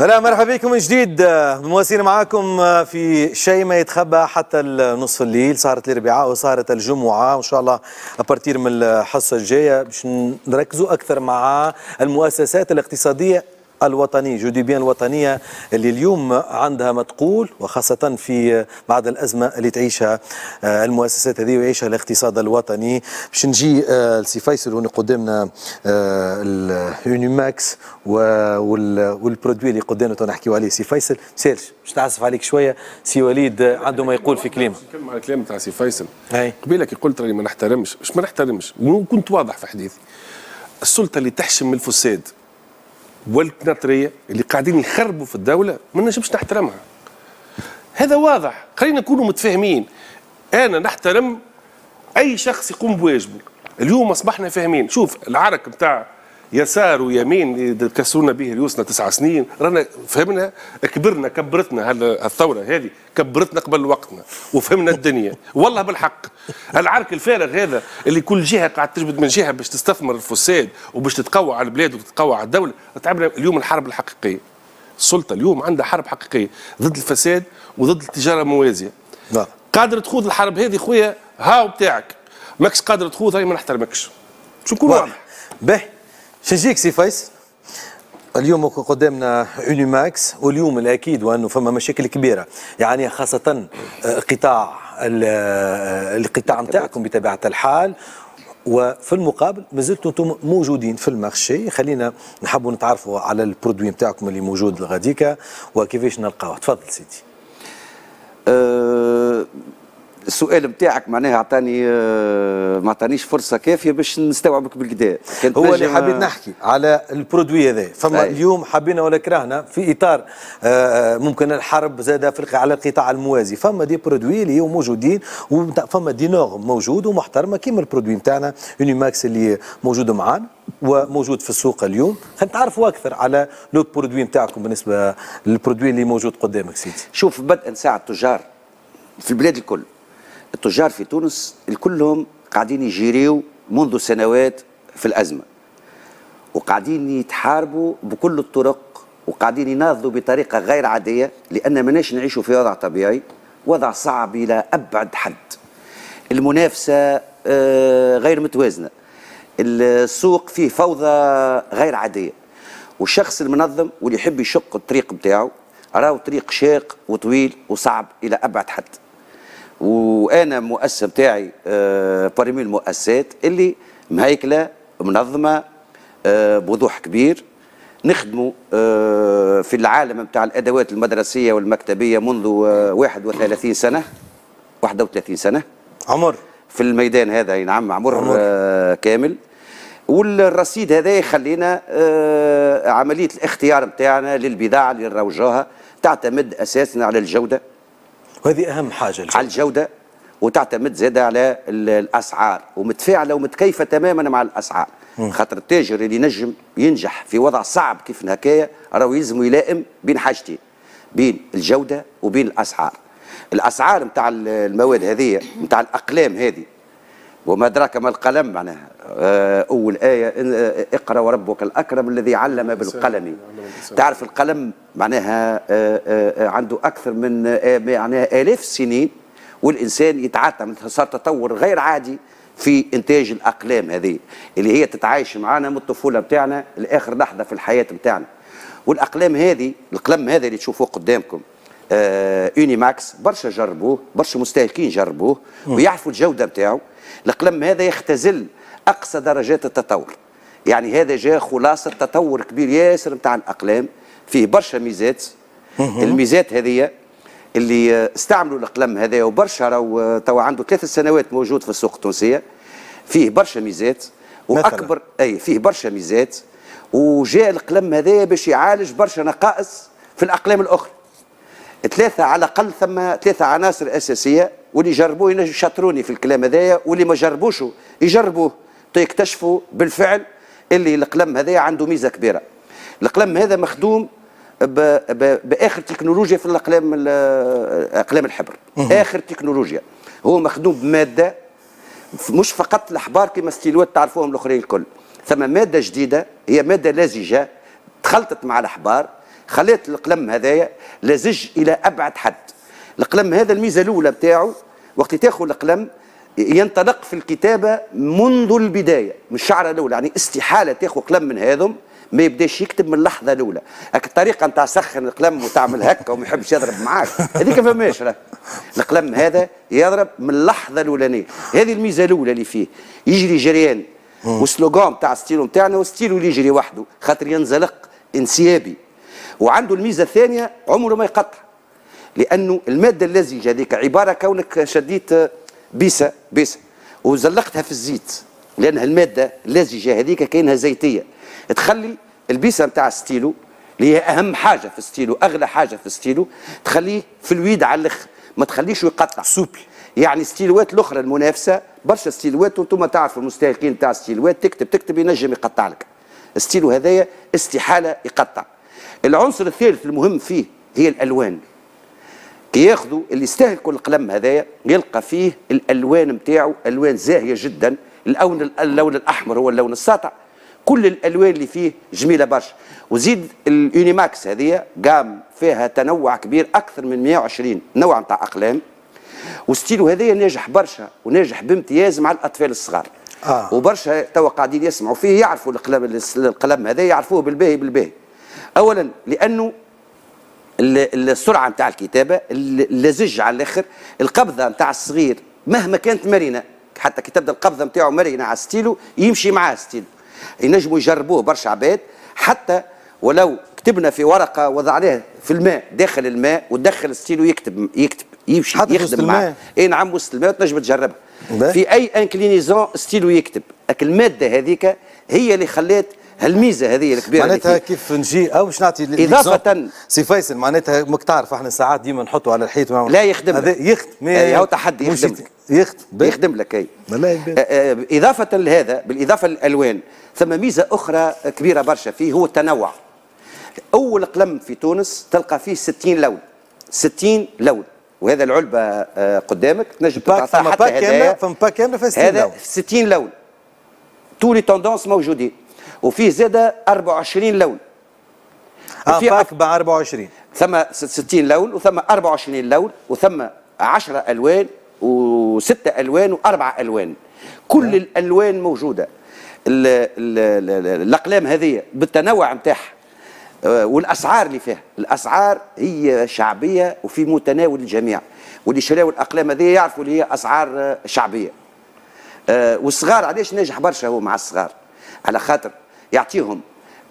هلا مرحبا بكم من جديد، مواصلين معاكم في شيء ما يتخبى حتى نصف الليل. صارت الاربعاء وصارت الجمعة، وان شاء الله à partir من الحصة الجاية باش نركزوا اكثر مع المؤسسات الاقتصادية الوطنية، je dis bien الوطنية، اللي اليوم عندها ما تقول، وخاصة في بعد الأزمة اللي تعيشها المؤسسات هذه ويعيشها الاقتصاد الوطني. باش نجي لسي فيصل، هنا قدامنا ال Unimax وال produit اللي قدامنا نحكيو عليه. سي فيصل، مسالش باش نعسف عليك شوية، سي وليد عنده ما يقول في كلمة. نتكلم على الكلام تاع سي فيصل قبيلة كي قلت راني ما نحترمش، مش ما نحترمش، وكنت واضح في حديثي. السلطة اللي تحشم من الفساد والكناطريه اللي قاعدين يخربوا في الدولة ما نجمش نحترمها. هذا واضح، خلينا نكونوا متفاهمين. انا نحترم اي شخص يقوم بواجبه. اليوم اصبحنا فاهمين، شوف العرك نتاع يسار ويمين اللي كسرونا به ريوسنا 9 سنين، رانا فهمنا، كبرنا، كبرتنا الثورة هذه، كبرتنا قبل وقتنا وفهمنا الدنيا. والله بالحق العرك الفارغ هذا اللي كل جهة قاعدة تجبد من جهة باش تستثمر الفساد وباش تتقوى على البلاد وتتقوى على الدوله، تعبنا. اليوم الحرب الحقيقيه، السلطة اليوم عندها حرب حقيقية ضد الفساد وضد التجارة الموازيه. قادر تخوض الحرب هذه خويا، هاو بتاعك، ماكش قادر تخوض هاي ما نحترمكش. شو نكون واضح. باهي، شنجيك سي فيصل، اليوم قدامنا Unimax، واليوم الاكيد وانه فما مشاكل كبيره، يعني خاصة قطاع القطاع نتاعكم بطبيعة الحال، وفي المقابل مازلتوا انتم موجودين في ال marché. خلينا نحبوا نتعرفوا على ال produit نتاعكم اللي موجود غاديكا وكيفاش نلقاوه. تفضل سيدي. السؤال بتاعك معناها اعطاني ما اعطانيش فرصة كافيه باش نستوعبك بالكدا. هو اللي حبيت نحكي على ال produit هذا. فما اليوم حبينا ولا كرهنا، في اطار ممكن الحرب زاد في على القطاع الموازي، فما des produits اللي هو موجودين وفما des normes موجود ومحترمه، كيما ال produit نتاعنا Unimax اللي موجود معانا وموجود في السوق اليوم. خلينا نتعرفوا اكثر على le produit نتاعكم بالنسبة لل produit اللي موجود قدامك سيدي. شوف، بدءا ساعة التجار في البلاد الكل، التجار في تونس الكلهم قاعدين يجيريو منذ سنوات في الأزمة، وقاعدين يتحاربوا بكل الطرق، وقاعدين يناضلوا بطريقة غير عادية، لأن ماناش نعيشوا في وضع طبيعي، وضع صعب إلى أبعد حد. المنافسة غير متوازنة، السوق فيه فوضى غير عادية، والشخص المنظم واللي يحب يشق الطريق بتاعه راهو طريق شاق وطويل وصعب إلى أبعد حد. وانا مؤسسة بتاعي parmi المؤسسات اللي مهيكله منظمة بوضوح كبير، نخدموا في العالم نتاع الادوات المدرسية والمكتبيه منذ 31 سنه، 31 سنة عمر في الميدان هذا. نعم، عمر, عمر. كامل. والرصيد هذا يخلينا عملية الاختيار نتاعنا للبضاعه اللي نروجوها تعتمد اساسا على الجوده. وهذه اهم حاجه. الجودة. على الجودة وتعتمد زاده على الاسعار، ومتفاعله ومتكيفه تماما مع الاسعار. خاطر التاجر اللي ينجم ينجح في وضع صعب كيف هكايا راهو يلزم يلائم بين حاجتين، بين الجودة وبين الاسعار. الاسعار نتاع المواد هذه، نتاع الاقلام هذه، وما ادراك ما القلم، معناها اول ايه اقرا وربك الاكرم الذي علم بالقلم. تعرف القلم معناها عنده اكثر من معناها الاف السنين، والانسان يتعاطى، صار تطور غير عادي في انتاج الاقلام هذه اللي هي تتعايش معنا من الطفولة بتاعنا لاخر لحظة في الحياة بتاعنا. والاقلام هذه، القلم هذا اللي تشوفوه قدامكم Unimax، برشا جربوه، برشا مستهلكين جربوه ويعرفوا الجودة نتاعو. القلم هذا يختزل اقصى درجات التطور، يعني هذا جاء خلاصه تطور كبير ياسر نتاع الاقلام، فيه برشا ميزات. الميزات هذه اللي استعملوا القلم هذا وبرشا راهو توا عنده 3 سنوات موجود في السوق التونسيه، فيه برشا ميزات واكبر اي فيه برشا ميزات، وجاء القلم هذا باش يعالج برشا نقائص في الاقلام الاخرى. ثلاثة على الاقل، ثم ثلاثة عناصر اساسيه، واللي جربوه يشاطروني في الكلام هذايا، واللي ما جربوش يجربوه يكتشفوا بالفعل اللي القلم هذايا عنده ميزة كبيره. القلم هذا مخدوم باخر تكنولوجيا في الاقلام، اقلام الحبر، اخر تكنولوجيا. هو مخدوم بمادة مش فقط الاحبار كما ستيلوات تعرفوهم الاخرين الكل، ثم مادة جديدة هي مادة لزجه تخلطت مع الاحبار. خليت القلم هذايا لزج الى ابعد حد. القلم هذا الميزة الاولى بتاعه وقت تاخذ القلم ينطلق في الكتابة منذ البداية من الشعرة الاولى، يعني استحالة تاخذ قلم من هذم ما يبداش يكتب من اللحظة الاولى. هاك الطريقة نتاع سخن القلم وتعمل هكا وما يحبش يضرب معاك هذيك فماش. راه القلم هذا يضرب من اللحظة الاولانية، هذه الميزة الاولى اللي فيه. يجري جريان، وال slogan تاع ستيلو نتاعنا وستيلو اللي يجري وحده خاطر ينزلق انسيابي. وعنده الميزة الثانية عمره ما يقطع، لانه المادة اللزجه هذيك عبارة كونك شديت بيسه بيسه وزلقتها في الزيت، لانها المادة اللزجه هذيك كاينها زيتيه، تخلي البيسه نتاع الستيلو اللي هي اهم حاجة في الستيلو، اغلى حاجة في الستيلو، تخليه fluide على الاخر، ما تخليش يقطع souple. يعني ستيلوات الاخرى المنافسة برشا ستيلوات، وانتم تعرفوا المستهلكين تاع ستيلوات، تكتب تكتب ينجم يقطع لك. الستيلو هذايا استحالة يقطع. العنصر الثالث المهم فيه هي الالوان. كي ياخذوا اللي يستهلكوا القلم هذايا يلقى فيه الالوان نتاعو الوان زاهيه جدا. اللون الاحمر هو اللون الساطع، كل الالوان اللي فيه جميلة برشا. وزيد ال Unimax هذه gamme فيها تنوع كبير اكثر من 120 نوع نتاع اقلام. وستيلو هذايا ناجح برشا وناجح بامتياز مع الاطفال الصغار. وبرشا توا قاعدين يسمعوا فيه يعرفوا القلم هذا، يعرفوه بالباهي بالباهي. اولا لانه السرعة نتاع الكتابة، اللزج على الاخر، القبضة نتاع الصغير مهما كانت مرنه، حتى كي تبدا القبضة نتاعو مرنه على ستيلو يمشي معاه ستيلو. ينجموا يجربوه برشا عباد، حتى ولو كتبنا في ورقة وضعناها في الماء داخل الماء ودخل الستيلو يكتب يكتب يمشي يخدم معاه. اي نعم وسط الماء تنجم تجربها في اي inclinaison stylo يكتب. لكن المادة هذيك هي اللي خلات هالميزه هذه الكبيرة. معناتها كيف نجي او باش نعطي اضافه سي فيصل، معناتها ماك تعرف احنا ساعات ديما نحطوا على الحيط لا يخدم هذا يخدم، هو تحدي يخدم يخدم يخدم لك. اي اضافه لهذا، بالاضافة للالوان، ثم ميزة اخرى كبيرة برشا فيه هو التنوع. اول قلم في تونس تلقى فيه 60 لون، 60 لون، وهذا العلبة قدامك تنجم تعطيها حتى هدايا. فما pack كاملة فيها 60 لون، 60 لون toutes les tendances موجودين. وفيه زاده 24 لون. pack ب 24. ثم 60 لون وثم 24 لون وثم 10 الوان و6 الوان و4 الوان. كل الالوان موجودة. الاقلام هذه بالتنوع نتاعها والاسعار اللي فيها، الاسعار هي شعبية وفي متناول الجميع، واللي شراو الاقلام هذه يعرفوا اللي هي اسعار شعبية. والصغار علاش ناجح برشا هو مع الصغار؟ على خاطر يعطيهم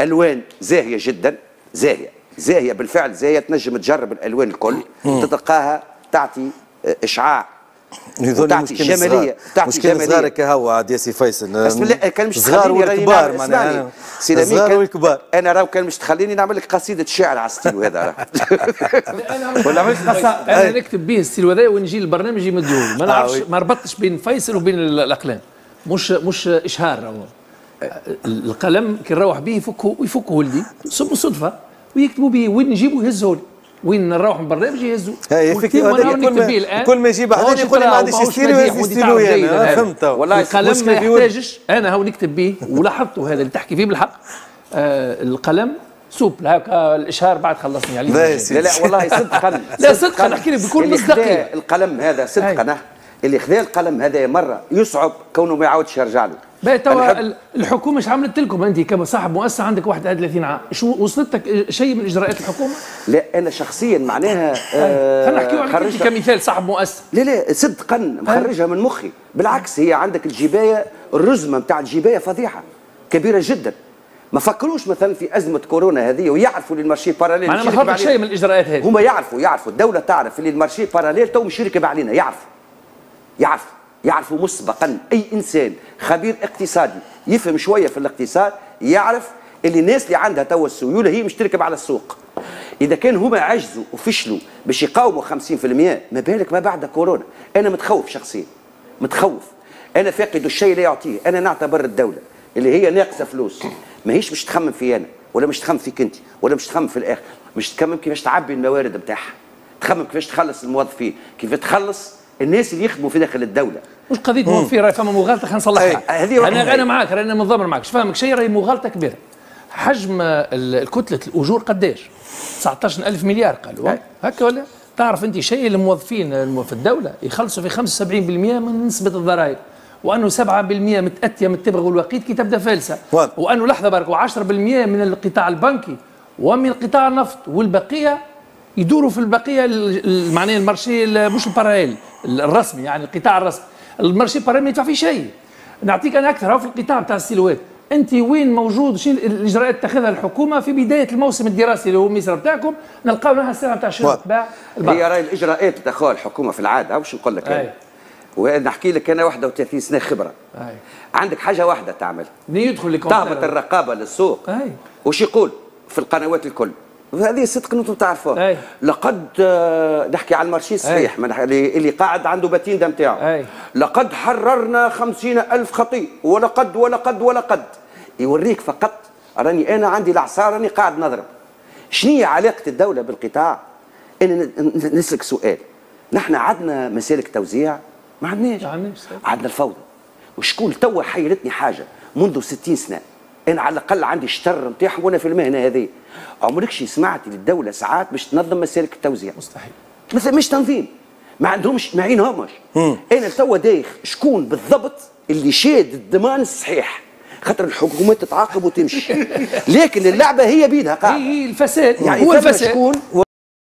الوان زاهيه جدا، زاهيه زاهيه بالفعل زاهيه، تنجم تجرب الالوان الكل تلقاها تعطي اشعاع وتعطي جمالية، تعطي جمالية. صغار كهو عاد يا سي فيصل، بس لا كان مش صغار والكبار معناها صغار والكبار. انا راهو كان مش تخليني نعمل لك قصيدة شعر على الستيلو هذا راه. ولا عملت قصائد. انا نكتب به الستيلو هذا ونجي للبرنامج يمدوه، ما نعرفش ما ربطتش بين فيصل وبين الاقلام، مش اشهار. راهو القلم كي نروح به يفكه ولدي صدفة ويكتبوا به، وين نجيبه يهزوا لي، وين نروح من البرنامج يهزوا. كل ما يجيب واحد يقول لي ما عنديش ستيلو ستيلو، انا فهمت والله. القلم ما يحتاجش، انا هو نكتب به ولاحظته هذا اللي تحكي فيه بالحق. القلم souple هكا الاشهار بعد خلصني عليه. لا لا والله صدقا، لا صدقا نحكي لك بكل مصداقية. القلم هذا صدقا اللي خذا القلم هذا مرة يصعب كونه ما يعاودش يرجع له. باهي توا الحكومة ايش عملت لكم؟ انت كصاحب مؤسسة عندك 31 عام، شو وصلتك شيء من اجراءات الحكومة؟ لا انا شخصيا معناها خلينا نحكيو عليك انت كمثال صاحب مؤسسة. لا لا صدقا مخرجها من مخي، بالعكس هي عندك الجبايه، الرزمه نتاع الجبايه فظيعة كبيرة جدا. ما فكروش مثلا في ازمة كورونا هذه ويعرفوا اللي ال marché parallèle معناها ما خرجت شيء من الاجراءات هذه. هما يعرفوا الدولة تعرف اللي ال marché parallèle تو مش يركب علينا، يعرفوا مسبقا. اي انسان خبير اقتصادي يفهم شوية في الاقتصاد يعرف اللي الناس اللي عندها توا السيولة هي مش تركب على السوق. اذا كان هما عجزوا وفشلوا باش يقاوموا 50%، ما بالك ما بعد كورونا. انا متخوف شخصيا، متخوف. انا فاقد الشيء لا يعطيه. انا نعتبر الدولة اللي هي ناقصه فلوس ماهيش مش تخمم في انا، ولا مش تخمم فيك انت، ولا مش تخمم في الاخر، مش تخمم كيفاش تعبي الموارد نتاعها، تخمم كيفاش تخلص الموظفين، كيف تخلص الناس اللي يخدموا في داخل الدولة. مش قضية موظفين، راهي فما مغالطة خلينا نصلحها. انا معاك، رانا متضامن معاك، مش فاهمك شيء، راهي مغالطة كبيرة. حجم الكتلة الاجور قداش؟ 19000 مليار قالوا هكا ولا؟ تعرف انت شيء، الموظفين في الدولة يخلصوا في 75% من نسبه الضرائب، وانه 7% متاتيه من التبغ والوقيد كي تبدا فالسه، وانه لحظة برك و10% من القطاع البنكي ومن قطاع النفط، والبقية يدوروا في البقية معناها ال marché مش ال parallèle الرسمي، يعني القطاع الرسمي، ال marché parallèle ما يدفع فيه شيء. نعطيك انا اكثر في القطاع بتاع السيلوات، انت وين موجود؟ شنو الاجراءات اتخذها الحكومة في بداية الموسم الدراسي اللي هو ميسر بتاعكم؟ نلقاو لها السلعة نتاع شنو تباع. هي راهي الاجراءات تاخذها الحكومة في العادة، باش نقول لك انا ونحكي لك انا 31 سنة خبره. أي. عندك حاجة واحدة تعمل، يدخل تهبط الرقابة للسوق. أي. وش يقول في القنوات الكل؟ هذه صدق انتم تعرفوها. لقد نحكي على ال marché الصحيح اللي قاعد عنده patente نتاعو. لقد حررنا 50,000 خطيء ولقد ولقد ولقد. يوريك فقط راني انا عندي العصا، راني قاعد نضرب. شنو هي علاقة الدولة بالقطاع؟ انا نسلك سؤال، نحن عندنا مسالك توزيع؟ ما عندناش، عندنا الفوضى. وشكون توا حيرتني حاجة منذ 60 سنة، انا على الاقل عندي الشطر نتاعهم وانا في المهنة هذه، عمركش سمعت للدولة ساعات باش تنظم مسالك التوزيع؟ مستحيل. مثلا مش تنظيم، ما عندهمش، ما عينهمش. انا توا دايخ شكون بالضبط اللي شاد الضمان الصحيح، خاطر الحكومات تتعاقب وتمشي، لكن اللعبة هي بيدها قاعدة. هي الفساد، يعني هو الفساد.